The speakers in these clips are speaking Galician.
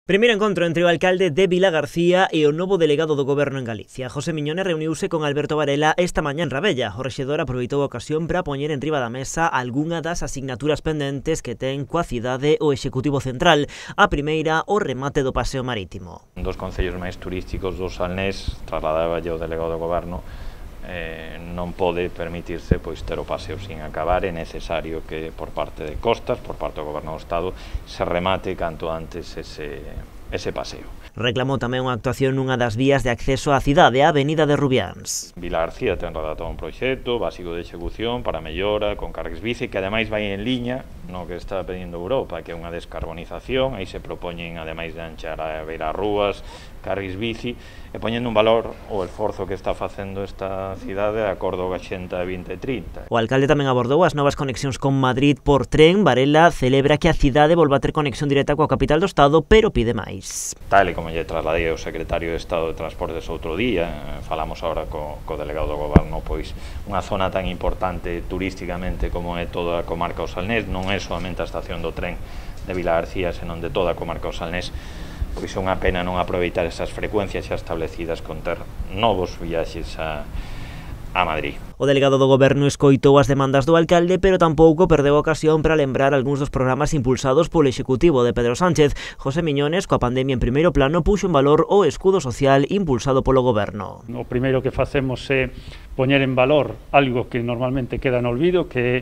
Primeiro encontro entre o alcalde de Vilagarcía e o novo delegado do Goberno en Galicia. José Miñones reuniuse con Alberto Varela esta mañá en Rabella. O rexedor aproveitou a ocasión para poñer en riba da mesa algunha das asignaturas pendentes que ten coa cidade o Executivo Central. A primeira, o remate do paseo marítimo. Un dos concellos máis turísticos do Salnés, trasladáballe o delegado do Goberno, non pode permitirse ter o paseo sin acabar. É necesario que por parte de Costas, por parte do Goberno do Estado, se remate canto antes ese paseo. Reclamou tamén unha actuación nunha das vías de acceso á cidade, a Avenida de Rubiáns. Vilagarcía ten redactado un proxecto básico de execución para mellora con carrils bici, que ademais vai en liña no que está pedindo Europa, que é unha descarbonización. Aí se propoñen, ademais de anchar a beira rúas, carrils bici, e poñendo un valor o esforzo que está facendo esta cidade de acordo coa Axenda 2030. O alcalde tamén abordou as novas conexións con Madrid por tren. Varela celebra que a cidade volva a ter conexión directa coa capital do Estado, pero pide máis. Tal e como lle trasladei ao secretario de Estado de Transportes outro día, falamos agora co delegado do Goberno, pois unha zona tan importante turísticamente como é toda a comarca do Salnés, non é solamente a estación do tren de Vilagarcía, senón de toda a comarca do Salnés. Pois é unha pena non aproveitar esas frecuencias xa establecidas con ter novos viaxes a Madrid. O delegado do Goberno escoitou as demandas do alcalde, pero tampouco perdeu a ocasión para lembrar algúns dos programas impulsados polo Executivo de Pedro Sánchez. José Miñones, coa pandemia en primeiro plano, puxo en valor o escudo social impulsado polo Goberno. O primeiro que facemos é poñer en valor algo que normalmente queda no olvido, que é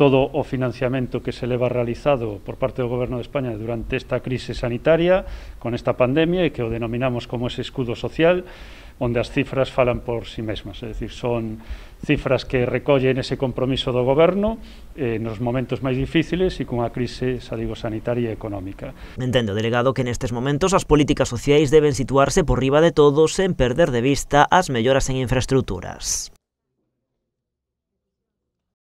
todo o financiamento que se leva realizado por parte do Goberno de España durante esta crise sanitaria, con esta pandemia, e que o denominamos como ese escudo social, onde as cifras falan por si mesmas, é dicir, son cifras que recollen ese compromiso do Goberno nos momentos máis difíciles e cunha crise, sanitaria e económica. Entende o delegado que nestes momentos as políticas sociais deben situarse por riba de todo sen perder de vista as melloras en infraestruturas.